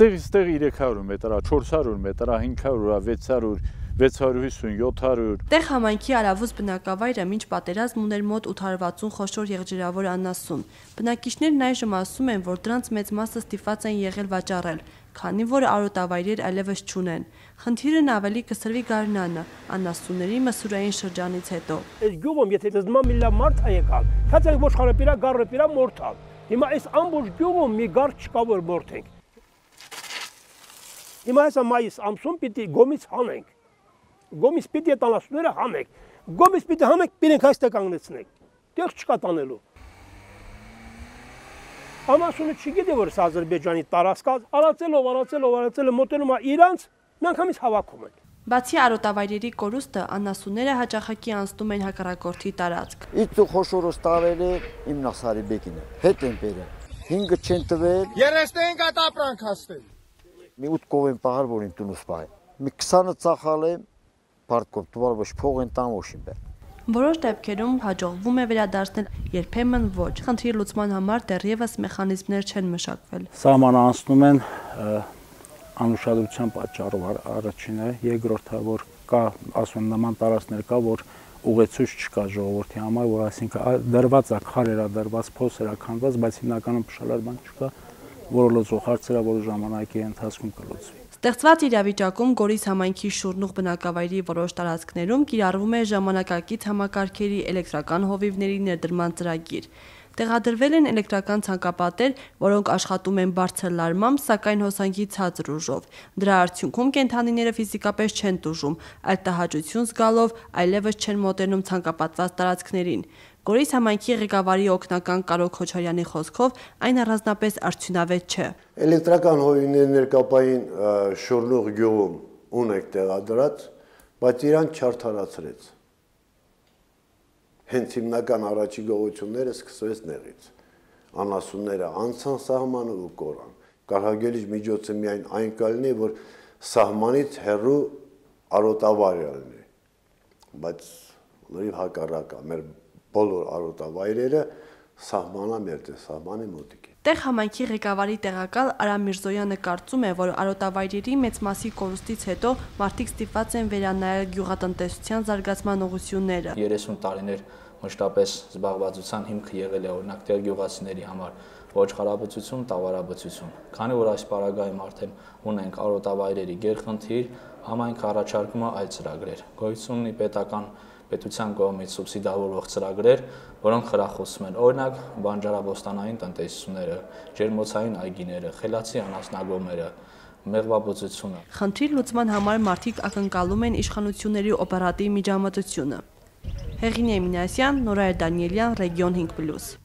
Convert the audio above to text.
Տեղից տեղ 300 մետր, 400 մետր, 500, 600, 700։ Տեղ համայնքի Արավուս բնակավայրը մինչ պատերազմ ուներ մոտ 860 խոշոր եղջերավոր անասուն։ Բնակիչներն այժմ ասում են, որ դրանց մեծ մասը ստիպված են եղել վաճառել, քանի որ արոտավայրեր այլևս չունեն։ Խնդիրն ավելի կսրվի գարնանը, անասունների մսուրային շրջանից հետո։ Այս գյուղում եթե դզման մի լավ մարդ է եկալ, քացանք ոչխարը պիրա, գառը պիրա մորթալ։ Հիմա այս ամբողջ գյուղում մի գառ չկա որ մորթենք։ Հիմա հեսա մայիս ամսում պիտի գոմից հանենք։ Գոմից պիտի այդ անասունները հանենք։ Գոմից պիտի հանենք, պիտենք այստեղ կանգնեցնենք։ Տեղ չկա տանելու։ Անասունը չգիտի որ սա Ադրբեջանի տարածքա, արածելով մոտենում է իրանց, միանգամից հավաքում են։ Բացի արոտավայրերի կորուստը, անասունները հաճախակի անցնում են հակառակորդի տարածք։ Իծու խոշորոս տարերը իմ Նասարի բեկինը, հետ են բերել, 5 չեն տվել։ 35 հատ ապրանք հասնել։ Մի 8 կով են պահար, որ իմ տունուս պահել։ Մի 20-ը ծախալ եմ, պարտկով տուալ ոչ փող են տան ոչ իմ բեր։ Որոշ դեպքերում հաջողվում է վերադարձնել, երբեմն ոչ։ Խնդրի լուծման համար դեռևս մեխանիզմներ չեն մշակվել։ Սահմանը անցնում են անուշադրության պատճառով առաջինը, երկրորդը որ կա ասում նման տարածքներ կա, որ ուղեցույց չկա ժողովրդի համար, որ այսինքն դրված է քարերա, դրված փոսերա քանդված, բայց հիմնականում փշալար բան չկա, որը լուծող հարցերը որ ժամանակի ընթացքում կլուծվի։ Ստեղծված իրավիճակում Գորիս համայնքի շուրնուղ բնակավայրի որոշ տարածքներում կիրառվում է ժամանակակից համակարգերի էլեկտրական հովիվների ներդրման ծրագիր։ Տեղադրվել են էլեկտրական ցանկապատեր, որոնք աշխատում են բարձր լարմամբ, սակայն հոսանքի ցածր ուժով։ Դրա արդյունքում կենդանիները ֆիզիկապես չեն տուժում, այլ տհաճություն զգալով այլևս չեն մոտենում ցանկապատված տարածքներին։ Գորիս համայնքի ղեկավարի օգնական Կարո Քոչարյանի խոսքով այն առանձնապես արդյունավետ չէ։ Էլեկտրական հովիվների ներկապային շուրնուղ գյուղում ունեք տեղադրած, բայց իրան չարդարացրեց։ Հենց հիմնական առաջի գողությունները սկսվեց նեղից։ Անասունները անցան սահմանը ու կորան։ Կարհագելիչ միջոցը միայն այն կլինի, որ սահմանից հեռու արոտավայր լինի։ Բայց լրիվ հակառակը, մեր բոլոր արոտավայրերը սահմանամերձ է, սահմանի մոտիկ է։ Տեղ համայնքի ղեկավարի տեղակալ Արամ Միրզոյանը կարծում է, որ արոտավայրերի մեծ մասի կորուստից հետո մարդիկ ստիպված են վերանայել գյուղատնտեսության զարգացման ուղղությունները։ 30 տարիներ մշտապես զբաղվածության հիմքը եղել է օրինակ տեղ գյուղացիների համար ոչխարաբուծություն, տավարաբուծություն։ Քանի որ այս պարագայում արդեն ունենք արոտավայրերի գերխնդիր, համայնքը առաջարկում է այլ ծրագրեր։ Գոյություն ունի պետության կողմից սուբսիդավորվող ծրագրեր, որոնք խրախուսում են օրինակ բանջարաբոստանային տնտեսությունները, ջերմոցային այգիները, խելացի անասնագոմերը, մեղվաբուծությունը։ Խնդրի լուծման համար մարդիկ ակնկալում են իշխանությունների օպերատիվ միջամտությունը։ Հեղինե Մինասյան, Նորայր Դանիելյան, Ռեգիոն 5+։